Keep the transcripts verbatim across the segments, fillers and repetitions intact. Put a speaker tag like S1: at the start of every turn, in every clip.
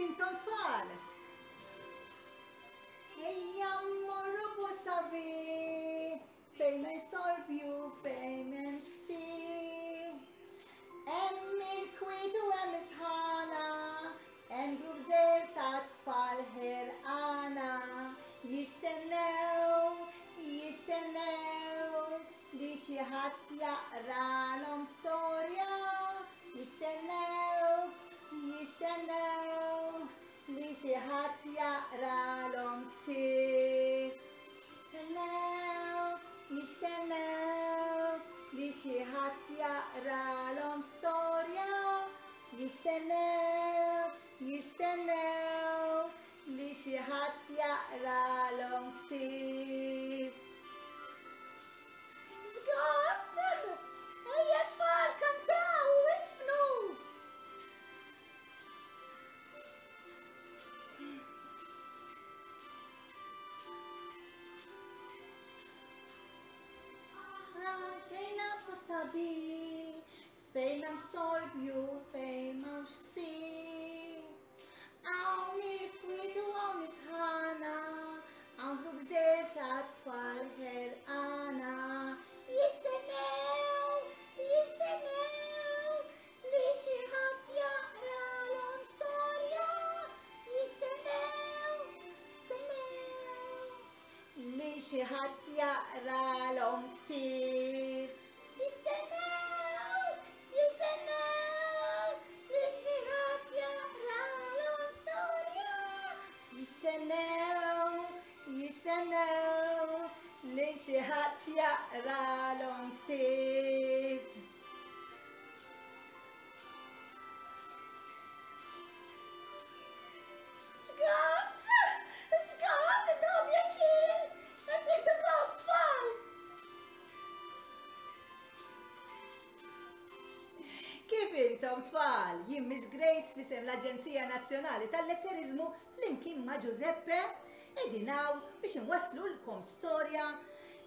S1: intom tfal? Ejja mmorru Posavi, fejn ma jistorbju, fejn m'hemmx ksir. Hemm il-kwiet u hemm is-sħana, hemm grupp żgħir ta' tfal ħerqana. Jistennew, jistennew li xi ħadd jaqralhom storja. Jistennew, jistennew li xi ħadd jaqralhom ktieb. Jistennew, jistennew li xi ħadd jaqralhom storja. Jistennew, jistennew li xi ħadd jaqralhom ktieb. X'gost! Ejja tfal, kantaw u isfnu! Ġejna Posavi, fejn hemm storbju, fejn m'hawnx ksir. Hawn il-kwiet u hawn is-sħana, hawn grupp żgħir ta' tfal ħerqana. Jistennew, jistennew li xi ħadd jaqralhom storja. Jistennew, jistennew li xi ħadd jaqralhom ktieb. Jistennew, jistennew li xi ħadd jaqralhom storja. Jistennew, jistennew li xi ħadd jaqralhom ktieb. X'gost! X'gost! Innahu pjaċir! Qed tieħdu gost tfal! Kif intom tfal? Jien Miss Grace f'isem l-Aġenzija Nazzjonali tal-Letteriżmu flimkien ma' Giuseppe qegħdin hawn biex inwasslulkom storja,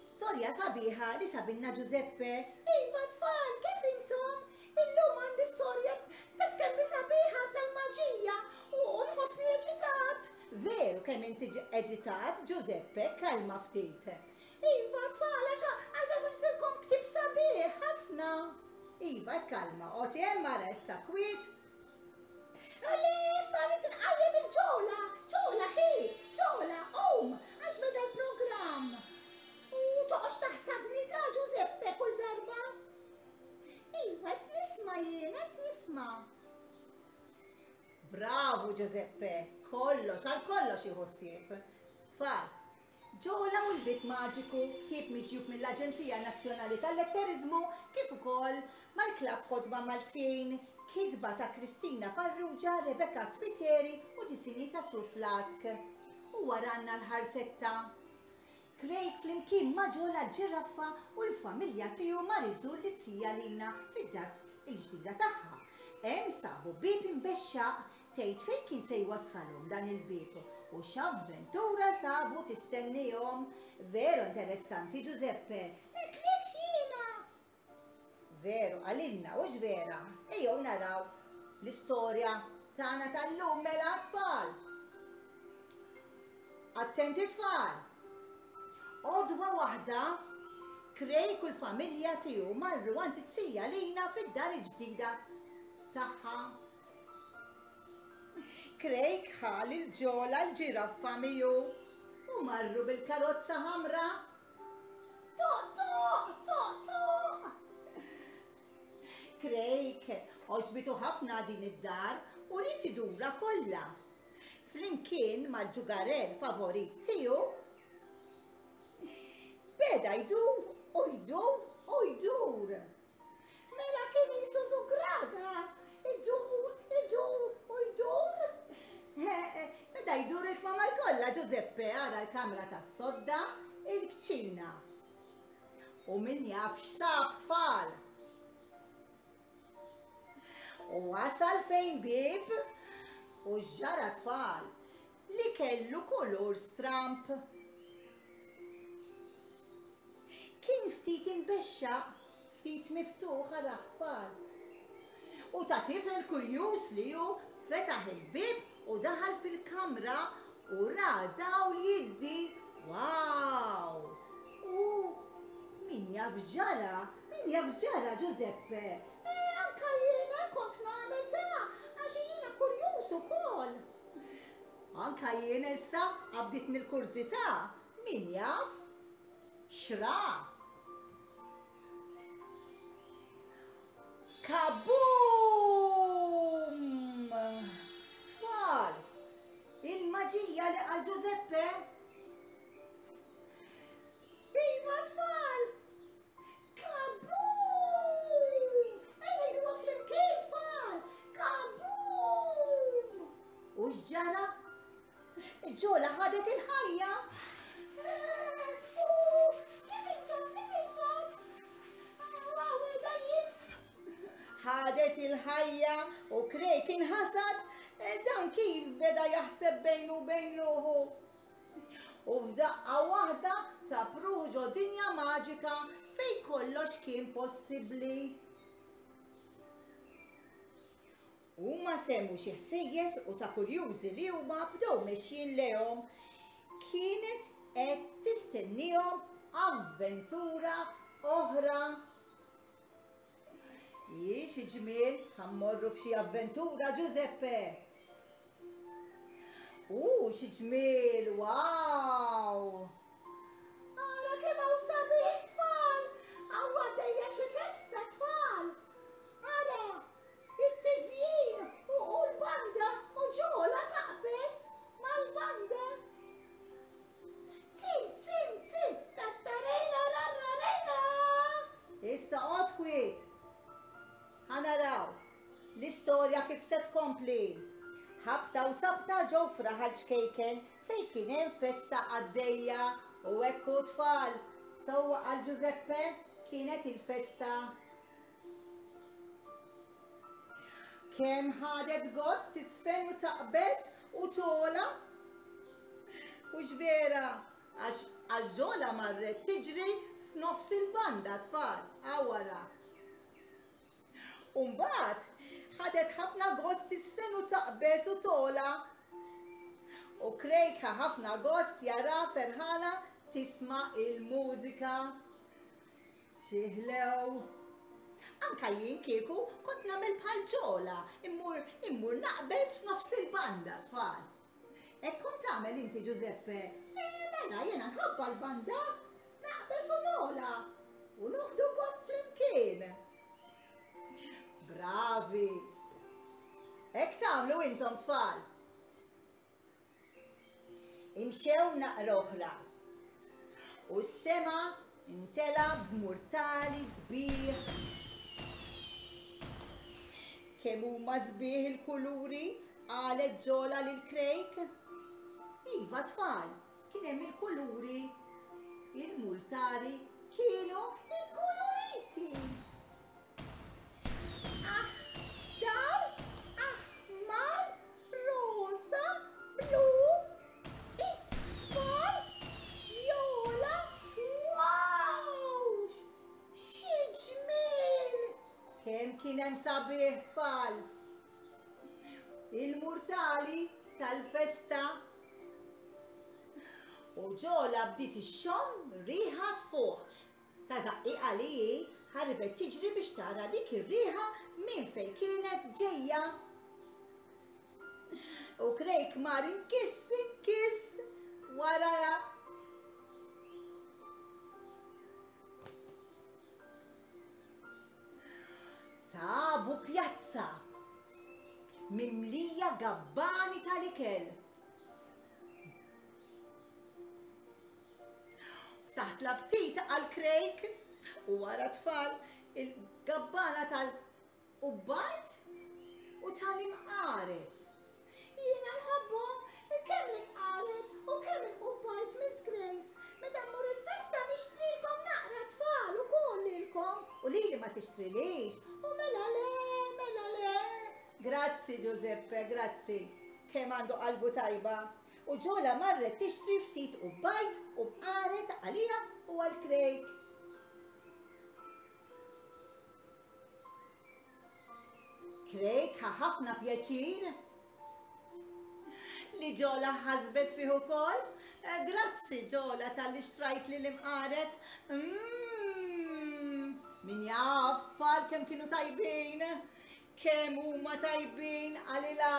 S1: storja sabiħa li sabilna Giuseppe. Iva tfal, kif intom? Illum għandi storja taf kemm hi sabiħa tal-maġija u nħossni eċitat. Veru kemm inti eċitat, Giuseppe, kalma ftit. Iva tfal, għax għax għażiltilkom ktieb sabiħ ħafna. Iva, kalma, oqgħod hemm ara issa kwiet. Għalli, saret inqajjem il-ġola, ġola ħi, ġola, qum, għax beda l-programm. U toqgħodx taħsadni ta' Giuseppe kull darba. Iva, qed nisma' jien, qed nisma'. Bravo Giuseppe, kollox, għal kollox jieħu ħsieb. Tfal, Ġola u l-Bieb Maġiku, ktieb miġjub mill-Aġenzija Nazzjonali tal-Letteriżmu kif ukoll mal-Klabb Kotba Maltin, kitba ta' Kristina Farrugia, Rebecca Spiteri u disinji ta' Sue Flask. U waranna l-ħarsetta. Craig flimkien ma' Ġola l-ġiraffa u l-familja tiegħu mar iżur lit-tija Lina fid-dar il-ġdida tagħha. Hemm sabu bieb imbexxaq tgħid fejn kien se jwassalhom dan il-bieb u x'avventura sabu tistennihom. Veru interessanti Giuseppe, ngħidlekx jiena. Veru għalilna u vera, ejjew naraw l-istorja tagħna tal-lum mela tfal. Attenti tfal. Għodwa waħda, Craig u l-familja tiegħu marru għand it-tija Lina fid-dar il-ġdida tagħha. Craig ħa lil Ġola l-ġiraffa miegħu u marru bil-karozza ħamra. Toq, toq, toq, toq! Craig għoġbitu ħafna din id-dar u ried idura kollha. Flimkien mal-ġugarell favorit tiegħu beda jdur u jdur u jdur. Mela kien qisu żugraga, idur, idur u jdur. Beda jdur il-kmamar kollha Giuseppe ara l-kamra tas-sodda, il-kċina. U min jaf x'sab tfal. U wasal fejn bieb u x'ġara tfal li kellu kulur stramp. Kien ftit imbexxaq, ftit miftuħ ara tfal. U ta' tifel kurjuż li hu fetaħ il-bieb u daħal fil-kamra u ra dawl jiddi. Wow! U min jaf ġara? Min jaf ġara, Giuseppe? Eh, anka jiena kont nagħmel ta' għax jiena kurjuż ukoll. Anka jien issa qabditni l-kurżità. Min jaf? Xra? Kaboom! Tfal! Il-maġija li qal Giuseppe. Iva, tfal! Kaboom! Ejja ngħiduha flimkien, tfal! Kaboom! U x'ġara? Ġola ħadet il-ħajja. Kif intom, kif intom? Ħadet il-ħajja u Craig inħasad dan kif beda jaħseb bejnu u bejn ruħu. U f'daqqa waħda sab ruħu ġo dinja maġika fejn kollox kien possibbli. Huma semmu xi ħsejjes u ta' kurjużi li huma bdew mexjin lejhom. Kienet qed tistennihom avventura oħra. Hi xi ġmiel, ħa mmorru f'xi avventura, Giuseppe. U xi ġmiel, wow! Ara kemm hawn sabiħ, tfal! Hawn għaddejja xi festa, tfal! Ara, it-tiżjin u l-banda u Ġola taqbeż mal-banda. Zin, zin, zin, tattarejna, rarrarejna! Issa qgħod kwiet. Ħa naraw l-istorja kif se tkompli. Ħabta u sabta ġew f'raħal ċkejken fejn kien hemm festa għaddejja u hekk hu tfal. Sewwa qal Giuseppe, kienet il-festa. Kemm ħadet gost tisfen u taqbeż u tola. U x'vera, għax Ġola marret tiġri f'nofs il-banda tfal, għawara. U mbagħad ħadet ħafna gost tisfen u taqbeż u tola. U Craig ħa ħafna gost jara ferħana tisma' il-mużika. Xi ħlew. Anka jien kieku kont nagħmel bħal Ġola, immur, immur naqbeż f'nofs il-banda tfal. Hekk kont tagħmel inti Giuseppe? Eh, mela jiena nħobba l-banda, naqbeż u nola u noħdu gost flimkien. Bravi! Hekk tagħmlu intom tfal. Imxew naqra oħra. U s-sema intela b'murtali sbieħ. Kemm huma sbieħ il-kuluri, qalet Ġola lil Craig. Iva tfal, kien hemm il-kuluri. Il-multari kienu ikkuluriti. Aħdar, aħmar, rosa, blu, isfar, vjola, wow! Xi ġmiel! Kemm kien hemm sabiħ tfal! Il-murtali tal-festa. U Ġola bdiet ixxomm riħa tfuħ. Ta' żaqqiqa li hi ħarbet tiġri biex tara dik ir-riħa minn fejn kienet ġejja. U Craig mar inkiss inkiss waraha. Sabu pjazza mimlija gabbani tal-ikel. Ftaħt l-aptit għal Craig u wara tfal il-gabbana tal-ubbajt u tal-imqaret. Jiena nħobbhom kemm l-imqaret u kemm il-ubbajt, Miss Grace. Meta mmur il-festa nixtrilkom naqra tfal ukoll lilkom. U lili ma tixtrilix. U mela le, mela le. Grazzi Giuseppe, grazzi. Kemm għandu qalbu tajba. U Ġola marret tixtri ftit ubbajt u mqaret għalija u għal Craig. Craig ħa ħafna pjaċir. Li Ġola ħasbet fih ukoll. Grazzi Ġola talli xtrajt li l-imqaret. Mmm, min jaf tfal kemm kienu tajbin, kemm huma tajbin qalilha.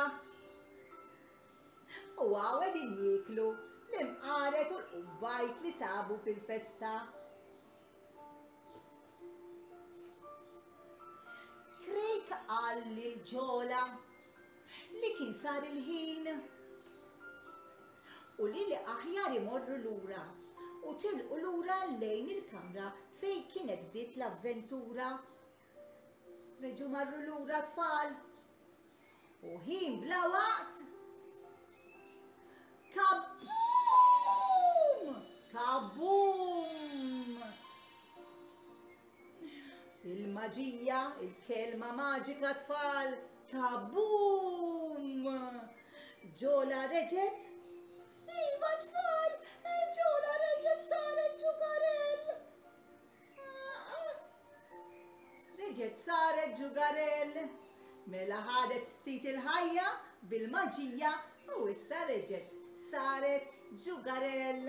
S1: U hawn qegħdin jieklu l-imqaret u l-qubbajt li sabu fil-festa. Craig qal lil Ġola li kien sar il-ħin u li li aħjar imorru lura u tilqu lura lejn il-kamra fejn kienet bdiet l-avventura. Reġgħu marru lura tfal u ħin bla waqt kabum! Kabum! Il-maġija, il-kelma maġika tfal, kabum! Ġola reġgħet? Iva tfal, Ġola reġgħet saret ġugarell. Reġgħet saret ġugarell. Mela ħadet ftit il-ħajja bil-maġija u issa reġgħet saret ġugarell.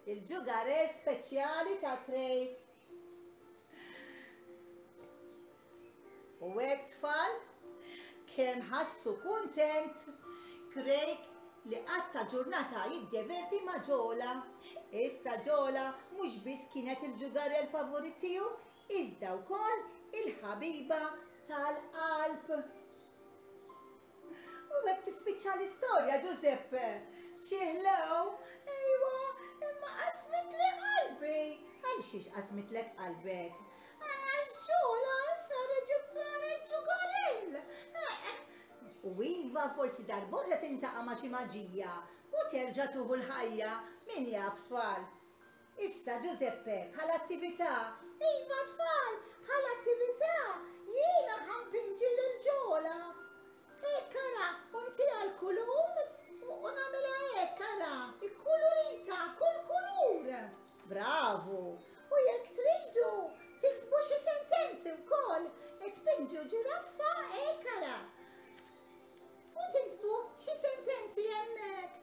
S1: Il-ġugarell speċjali ta' Craig. U hekk tfal, kemm ħassu kuntent Craig li qatta ġurnata jiddeverti ma' Ġola. Issa Ġola mhux biss kienet il-ġugarell favorit tiegħu, iżda wkoll il-ħabiba tal-qalb. U hekk tispiċċa l-istorja, Giuseppe. Xi ħlew, ejwa, imma qasmitli qalbi. Għal xiex qasmitlek qalbek? Għax Ġola issa reġgħet saret ġugarell. U iva forsi darb'oħra tintaqa' ma' xi maġija u terġa' tuħu l-ħajja, min jaf tfal. Issa Giuseppe, bħala attività, iva tfal, bħala attività, jiena ħampinġi lil Ġola. Hekk ara, u ntiha l-kulur u nagħmilha hekk ara, ikkulurita kull kulur. Bravu! U jekk tridu, tiktbu xi sentenzi wkoll, tpinġu ġiraffa hekk ara. U tiktbu xi sentenzi hemmhekk.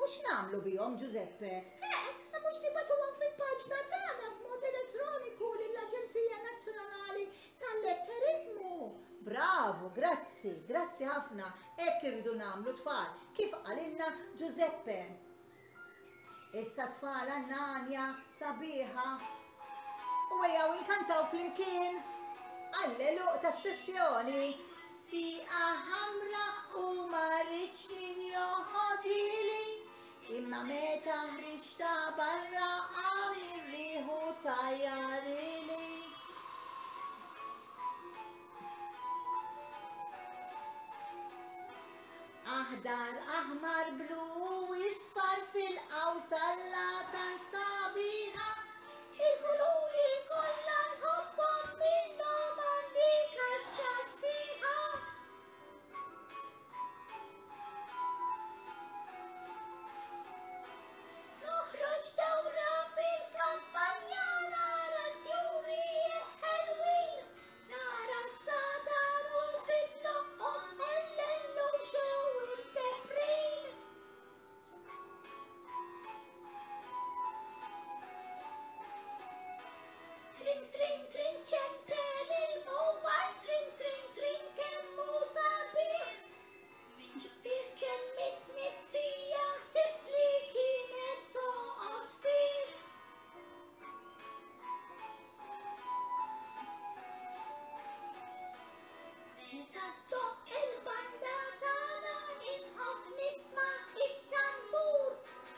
S1: U x'nagħmlu bihom, Giuseppe? Eh, mhux tibagħtuhom fil-paġna tagħna b'mod elettroniku lill-Aġenzija Nazzjonali tal-Letteriżmu. Bravu, grazzi, grazzi ħafna. Hekk irridu nagħmlu tfal, kif qalilna Giuseppe. Issa tfal għandna għanja sabiħa. U ejjew inkantaw flimkien għall-għeluq tas-sezzjoni. Sieqa ħamra u ma rridx min joħodili, imma meta ħriġta barra qam ir-riħu tajjarili. Aħdar, aħmar, blu, isfar fil-qawsalla tant sabiħa. Il-kuluri kollha nħobbhom minnhom għandi kaxxa sħiħa. Noħroġ dawra fil-kampanja nara l-fjuri hekk ħelwin, nara s-satar u fidloqhom ellellu xew il-peprin. Trin, trin, trin, ċempel il-mobile, trin, trin, trin, kemm hu sabiħ. Fih kemm it-tnizzija ħsibt li kienet toqgħod fih. Meta ddoqq il-banda tagħna inħobb nisma' it-tambur.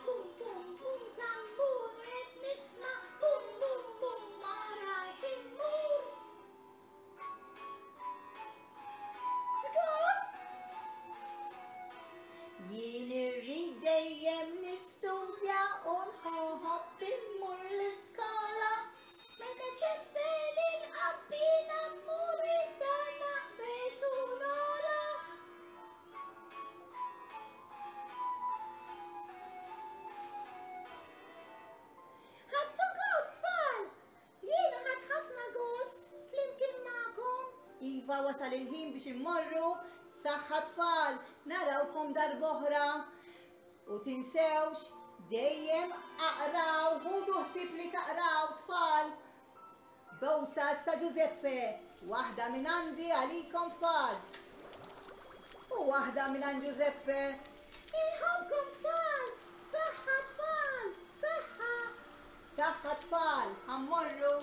S1: Bum, bum, bum, tambur qed nisma' bum, bum, bum, ma rajt immur. Żgost! Jien irrid dejjem nistudja u nħobb immur l-iskola. Meta ċempel inqabbina mmur id-dar naqbeż u nola. Ħadtu gost, tfal! Jiena ħadt ħafna gost flimkien magħkom. Iva, wasal il-ħin biex immorru. Saħħa tfal, narawkom darb'oħra. U tinsewx, dejjem aqraw, ħudu ħsieb li taqraw tfal. Bewsa issa Giuseppe, waħda minn għandi għalikom tfal. U waħda minn għand Giuseppe. Inħobbkom tfal, saħħa tfal, saħħa. Saħħa tfal, ħa mmorru.